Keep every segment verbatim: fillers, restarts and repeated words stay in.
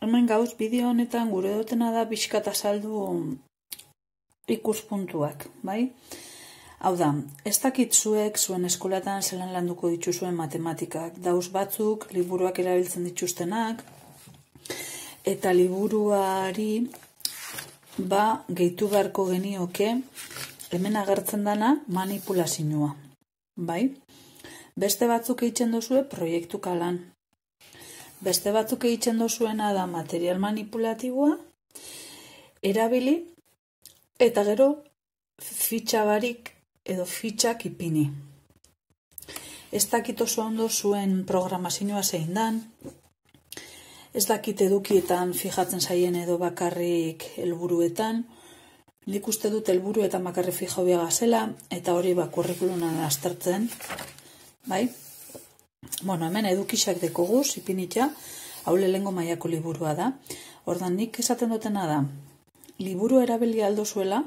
hemen gauz bideo honetan gure dutena da pixkat azaldu ikuspuntuak, bai? Hau da, ez dakit zuek zuen eskolatan zelan landuko dituzuen matematikak, dauz batzuk liburuak erabiltzen dituztenak, eta liburuari ba gehitu beharko genioke hemen agertzen dana manipulazioa, bai? Beste batzuk egiten duzue proiektu kalan. Beste batzuk egiten duzuena da material manipulatiboa, erabili, eta gero fitxa barik edo fitxak ipini. Ez dakit oso ondo zuen programazioa zein dan, ez dakit edukietan fijatzen zaien edo bakarrik helburuetan, nik uste dut helburu eta bakarrik fijau biagazela, eta hori ba kurrikulunan aztertzen, bai? Bueno, hemen edukisak dekoguz, ipinitza, hau lehengo mailako liburua da. Ordan nik esaten dutena da, liburu erabili aldo zuela,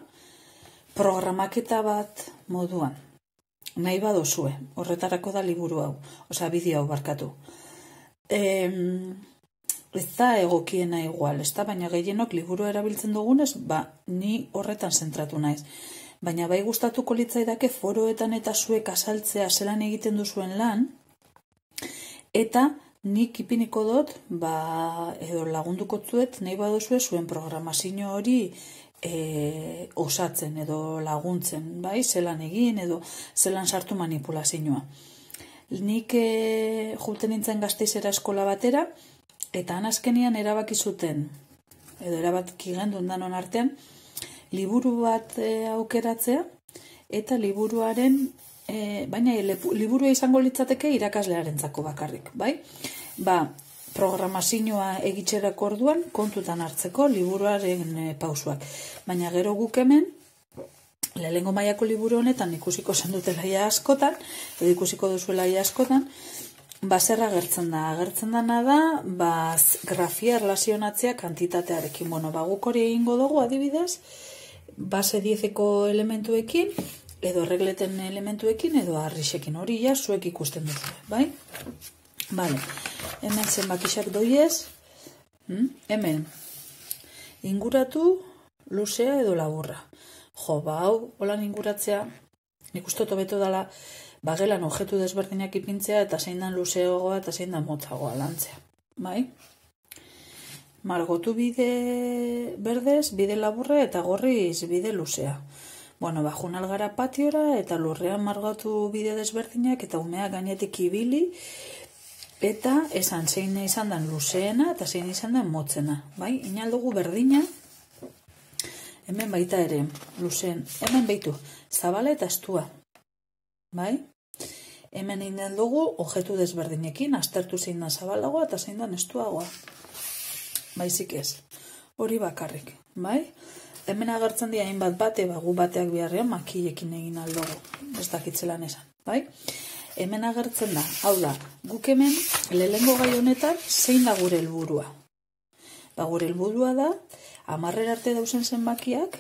programaketa bat moduan. Nahi badozue, horretarako da liburu hau, osea bideo hau barkatu. E, ez da egokiena igual, ez da, baina gehienok liburu erabiltzen dugunez, ba, ni horretan zentratu naiz. Baina bai gustatuko litzaidake foroetan eta zuek azaltzea zelan egiten duzuen lan, eta nik ipiniko dut, ba, edo lagunduko zuet, nahi baduzue zuen programazio hori e, osatzen edo laguntzen, bai, zelan egin edo zelan sartu manipulazioa. Nik e, juten nintzen Gasteizera eskola batera, eta anazkenian erabaki zuten, edo erabaki gendun danon artean, liburu bat e, aukeratzea, eta liburuaren, e, baina liburua izango litzateke irakaslearentzako bakarrik, bai? Ba, programazioa egitxerako orduan kontutan hartzeko liburuaren e, pausuak. Baina gero guk hemen, lehengo mailako liburu honetan ikusiko zen dutela ia askotan, edo ikusiko duzuela ia askotan, ba, zer agertzen da? Agertzen dana da, ba, grafia erlazionatzea kantitatearekin. Bueno, ba, guk hori egingo dugu adibidez, base diezeko elementuekin, edo regleten elementuekin, edo arrixekin. Hori ja zuek ikusten duzu, bai? Vale, hemen zenbakixak doiez, hmm? Hemen, inguratu, luzea edo laburra. Jo, ba, hau, holan inguratzea, nik uste hobeto dela, bagelan objektu desberdinak ipintzea, eta zein dan luzeagoa eta zein dan motzagoa lantzea, bai? Margotu bide berdez, bide laburra eta gorriz bide luzea. Bueno, ba, junal gara patiora eta lurrean margotu bide desberdinak eta umea gainetik ibili, eta esan zein izan dan luzeena eta zein izan dan motzena, bai? Inaldugu berdina, hemen baita ere, luzeen, hemen baitu, zabala eta estua, bai? Hemen egin dugu objektu desberdinekin, aztertu zein dan zabalagoa eta zein dan estuagoa. Baizik ez, hori bakarrik, bai? Hemen agertzen dira hainbat bate, bagu bateak biharrean makilekin egin aldugu, ez dakitzelan esan, bai? Hemen agertzen da, hau da, guk hemen lehengo gai honetan zein da gure helburua. Ba, gure helburua da, hamarrer arte dauzen zenbakiak,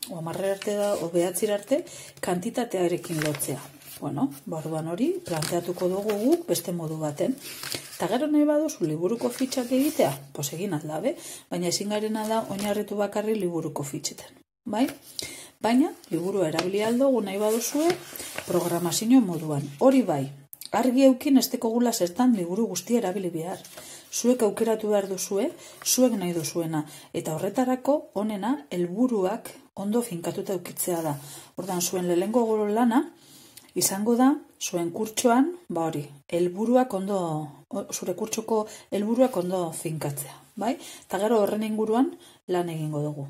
o hamarrer arte da, o behatzir arte, kantitatearekin lotzea. Bueno, barruan hori, planteatuko dugu guk beste modu baten. Eta gero nahi baduzu liburuko fitxak egitea, pos egin aldabe, baina ezin garena da oinarritu bakarri liburuko fitxetan. Bai? Baina, liburu erabili aldugu nahi baduzue programazio moduan. Hori bai, argi eukin ez dekogula zertan liburu guztia erabili behar. Zuek aukeratu behar duzue, zuek nahi duzuena. Eta horretarako, honena, helburuak ondo finkatuta eukitzea da. Ordan zuen lehengo goro lana, izango da, zuen kurtsoan, ba hori, helburuak ondo, zure kurtsoko helburuak ondo finkatzea, bai? Eta gero horren inguruan lan egingo dugu.